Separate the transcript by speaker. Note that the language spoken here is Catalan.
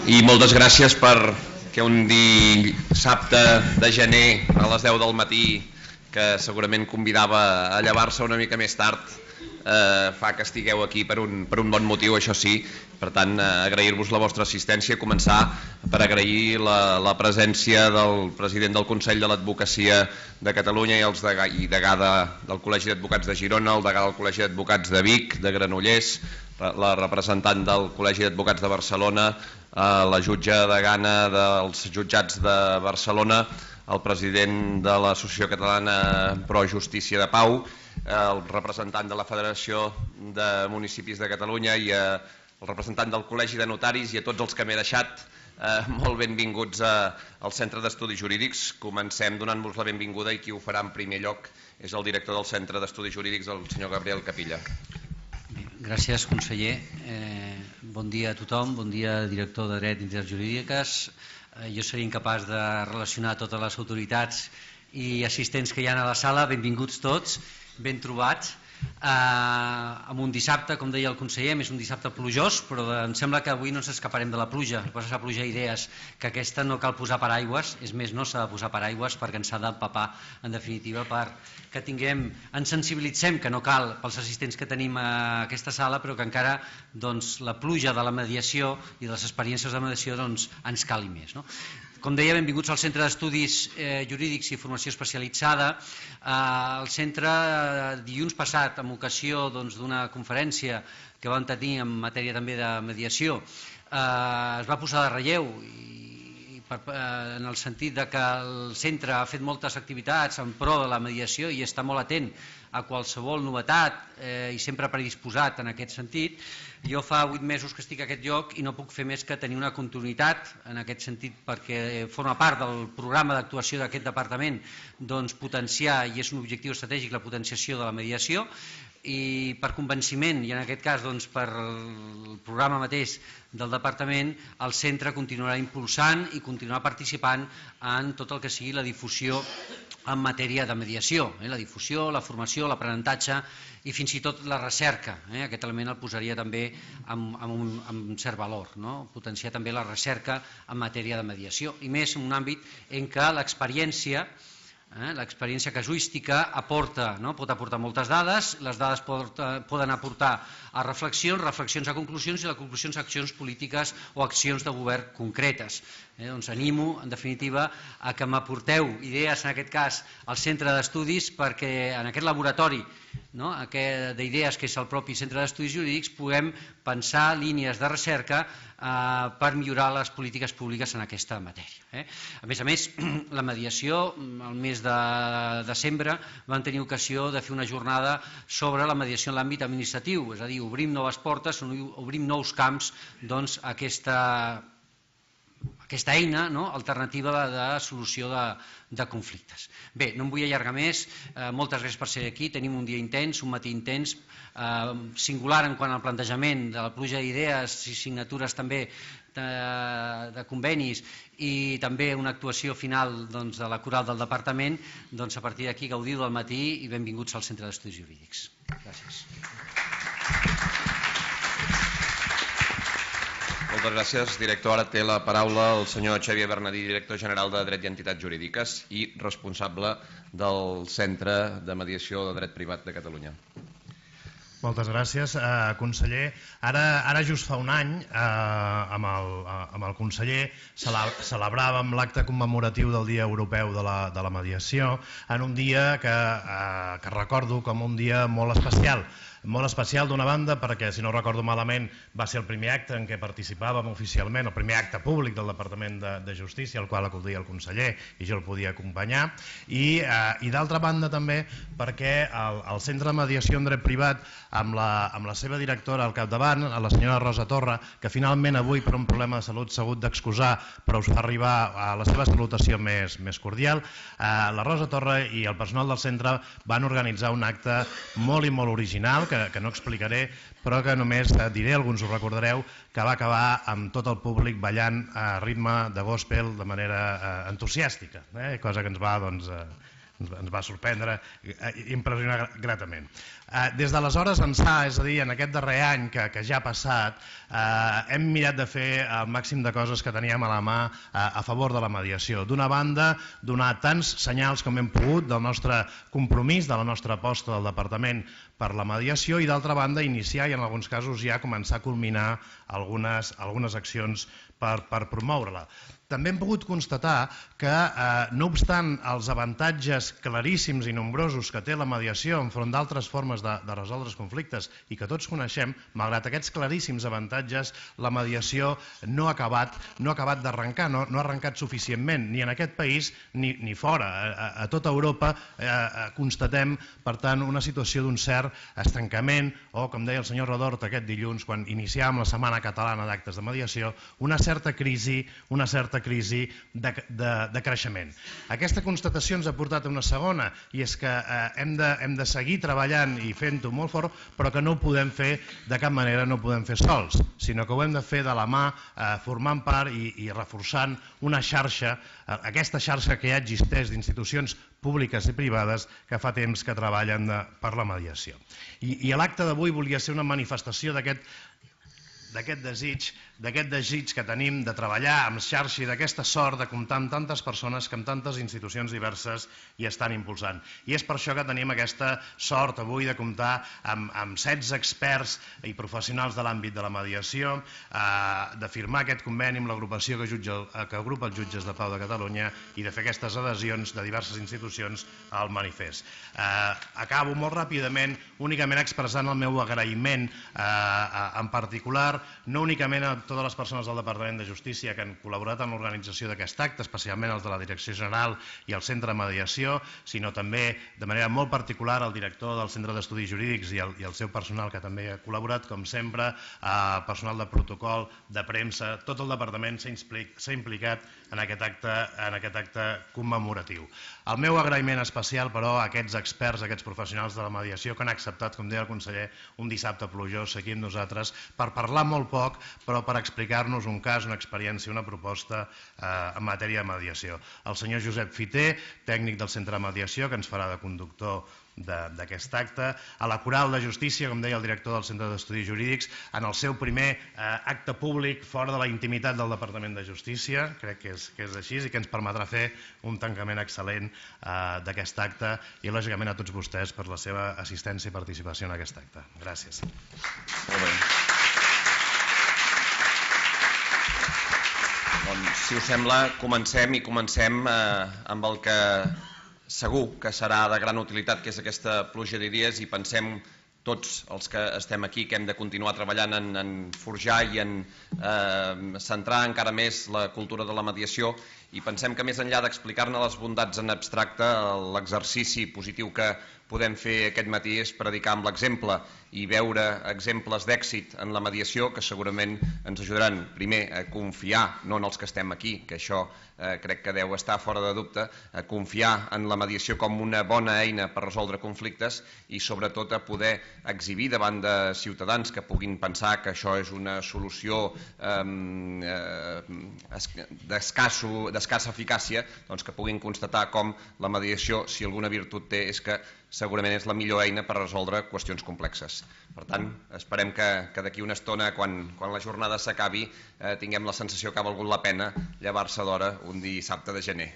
Speaker 1: i moltes gràcies perquè un dissabte de gener a les 10 del matí, que segurament convidava a llevar-se una mica més tard, fa que estigueu aquí per un bon motiu, això sí. Per tant, agrair-vos la vostra assistència, començar per agrair la presència del president del Consell de l'Advocacia de Catalunya i degà del Col·legi d'Advocats de Girona, el degà del Col·legi d'Advocats de Vic, de Granollers, la representant del Col·legi d'Advocats de Barcelona, la jutge degana dels jutjats de Barcelona, el president de l'Associació Catalana Pro Justícia de Pau, el representant de la Federació de Municipis de Catalunya i el representant del Col·legi de Notaris, i a tots els que m'he deixat, molt benvinguts al Centre d'Estudis Jurídics. Comencem donant-vos la benvinguda, i qui ho farà en primer lloc és el director del Centre d'Estudis Jurídics, el senyor Gabriel Capilla.
Speaker 2: Gràcies, conseller. Bon dia a tothom, bon dia, director de Dret i Entitats Jurídiques. Jo seria incapaç de relacionar totes les autoritats i assistents que hi ha a la sala. Benvinguts tots, ben trobats. Amb un dissabte, com deia el conseller, és un dissabte plujós, però em sembla que avui no ens escaparem de la pluja. Posa la pluja idees, que aquesta no cal posar paraigües, és més, no s'ha de posar paraigües perquè ens s'ha d'empapar, en definitiva, perquè tinguem, ens sensibilitzem, que no cal pels assistents que tenim a aquesta sala, però que encara la pluja de la mediació i de les experiències de mediació ens cali més. Com deia, benvinguts al Centre d'Estudis Jurídics i Formació Especialitzada. El centre, dilluns passat, en ocasió d'una conferència que vam tenir en matèria també de mediació, es va posar de relleu en el sentit que el centre ha fet moltes activitats en pro de la mediació i està molt atent a qualsevol novetat i sempre predisposat en aquest sentit. Jo fa 8 mesos que estic a aquest lloc i no puc fer més que tenir una continuïtat en aquest sentit, perquè forma part del programa d'actuació d'aquest departament potenciar, i és un objectiu estratègic, la potenciació de la mediació, i per convenciment, i en aquest cas per el programa mateix del departament, el centre continuarà impulsant i continuarà participant en tot el que sigui la difusió en matèria de mediació, la difusió, la formació, l'aprenentatge i fins i tot la recerca. Aquest element el posaria també amb un cert valor, potenciar també la recerca en matèria de mediació, i més en un àmbit en què l'experiència casuística pot aportar moltes dades, les dades poden aportar a reflexions a conclusions, i les conclusions a accions polítiques o accions de govern concretes. Animo, en definitiva, a que m'aporteu idees, en aquest cas, al centre d'estudis, perquè en aquest laboratori d'idees que és el propi Centre d'Estudis Jurídics puguem pensar línies de recerca per millorar les polítiques públiques en aquesta matèria. A més, la mediació, el mes de desembre vam tenir ocasió de fer una jornada sobre la mediació en l'àmbit administratiu, és a dir, obrim noves portes, obrim nous camps a aquesta eina alternativa de solució de conflictes. Bé, no em vull allargar més, moltes gràcies per ser aquí, tenim un dia intens, un matí intens, singular en quant al plantejament de la pluja d'idees i signatures també de convenis, i també una actuació final de la coral del departament. A partir d'aquí, gaudiu del matí i benvinguts al Centre d'Estudis Jurídics. Gràcies.
Speaker 1: Moltes gràcies, director. Ara té la paraula el senyor Xavier Bernadí, director general de Dret i Entitats Jurídiques i responsable del Centre de Mediació de Dret Privat de Catalunya.
Speaker 3: Moltes gràcies, conseller. Ara just fa un any, amb el conseller, celebràvem l'acte commemoratiu del Dia Europeu de la Mediació, en un dia que recordo com un dia molt especial. Molt especial d'una banda perquè, si no recordo malament, va ser el primer acte en què participàvem oficialment, el primer acte públic del Departament de Justícia, al qual acudia el conseller i jo el podia acompanyar, i d'altra banda també perquè el Centre de Mediació en Dret Privat, amb la seva directora al capdavant, la senyora Rosa Torra, que finalment avui per un problema de salut s'ha hagut d'excusar, però us fa arribar a la seva salutació més cordial, la Rosa Torra i el personal del centre van organitzar un acte molt i molt original, que no explicaré, però que només diré, alguns ho recordareu, que va acabar amb tot el públic ballant a ritme de gospel de manera entusiàstica, cosa que ens va ens va sorprendre i impressionar gratament. Des d'aleshores ençà, és a dir, en aquest darrer any que ja ha passat, hem mirat de fer el màxim de coses que teníem a la mà a favor de la mediació. D'una banda, donar tants senyals com hem pogut del nostre compromís, de la nostra aposta del Departament per la mediació, i d'altra banda iniciar i en alguns casos ja començar a culminar algunes accions per promoure-la. També hem pogut constatar que, no obstant els avantatges claríssims i nombrosos que té la mediació enfront d'altres formes de resoldre els conflictes i que tots coneixem, malgrat aquests claríssims avantatges, la mediació no ha acabat d'arrencar, no ha arrencat suficientment, ni en aquest país ni fora. A tota Europa constatem, per tant, una situació d'un cert estancament o, com deia el senyor Redort aquest dilluns, quan iniciàvem la Setmana Catalana d'Actes de Mediació, una certa crisi de creixement. Aquesta constatació ens ha portat a una segona, i és que hem de seguir treballant i fent-ho molt fort, però que no ho podem fer de cap manera, no ho podem fer sols, sinó que ho hem de fer de la mà, formant part i reforçant una xarxa, aquesta xarxa que ja existeix d'institucions públiques i privades que fa temps que treballen per la mediació. I l'acte d'avui volia ser una manifestació d'aquest desig que tenim de treballar amb xarxa i d'aquesta sort de comptar amb tantes persones que amb tantes institucions diverses hi estan impulsant. I és per això que tenim aquesta sort avui de comptar amb 16 experts i professionals de l'àmbit de la mediació, de firmar aquest conveni amb l'agrupació que agrupa els jutges de pau de Catalunya i de fer aquestes adhesions de diverses institucions al manifest. Acabo molt ràpidament únicament expressant el meu agraïment en particular, no únicament a totes les persones del Departament de Justícia que han col·laborat en l'organització d'aquest acte, especialment els de la Direcció General i el Centre de Mediació, sinó també de manera molt particular al director del Centre d'Estudis Jurídics i el seu personal que també ha col·laborat, com sempre, personal de protocol, de premsa, tot el Departament s'ha implicat en aquest acte commemoratiu. El meu agraïment especial, però, a aquests experts, a aquests professionals de la mediació que han acceptat, com deia el conseller, un dissabte plujós aquí amb nosaltres per parlar molt poc, però per explicar-nos un cas, una experiència, una proposta en matèria de mediació. El senyor Josep Fiter, tècnic del Centre de Mediació, que ens farà de conductor d'aquest acte, a la Coral de Justícia, com deia el director del Centre d'Estudis Jurídics, en el seu primer acte públic fora de la intimitat del Departament de Justícia, crec que és així, i que ens permetrà fer un tancament excel·lent d'aquest acte, i lògicament a tots vostès per la seva assistència i participació en aquest acte. Gràcies.
Speaker 1: Molt bé. Doncs, si us sembla, comencem amb el que segur que serà de gran utilitat, que és aquesta pluja d'idees, i pensem tots els que estem aquí que hem de continuar treballant en forjar i en centrar encara més la cultura de la mediació, i pensem que més enllà d'explicar-ne les bondats en abstracte, l'exercici positiu que podem fer aquest matí és predicar amb l'exemple i veure exemples d'èxit en la mediació que segurament ens ajudaran, primer, a confiar, no en els que estem aquí, que això crec que deu estar fora de dubte, a confiar en la mediació com una bona eina per resoldre conflictes i sobretot a poder exhibir davant de ciutadans que puguin pensar que això és una solució d'escassa eficàcia, doncs que puguin constatar com la mediació, si alguna virtut té, és que segurament és la millor eina per resoldre qüestions complexes. Per tant, esperem que d'aquí una estona, quan la jornada s'acabi, tinguem la sensació que ha valgut la pena llevar-se d'hora un dissabte de gener.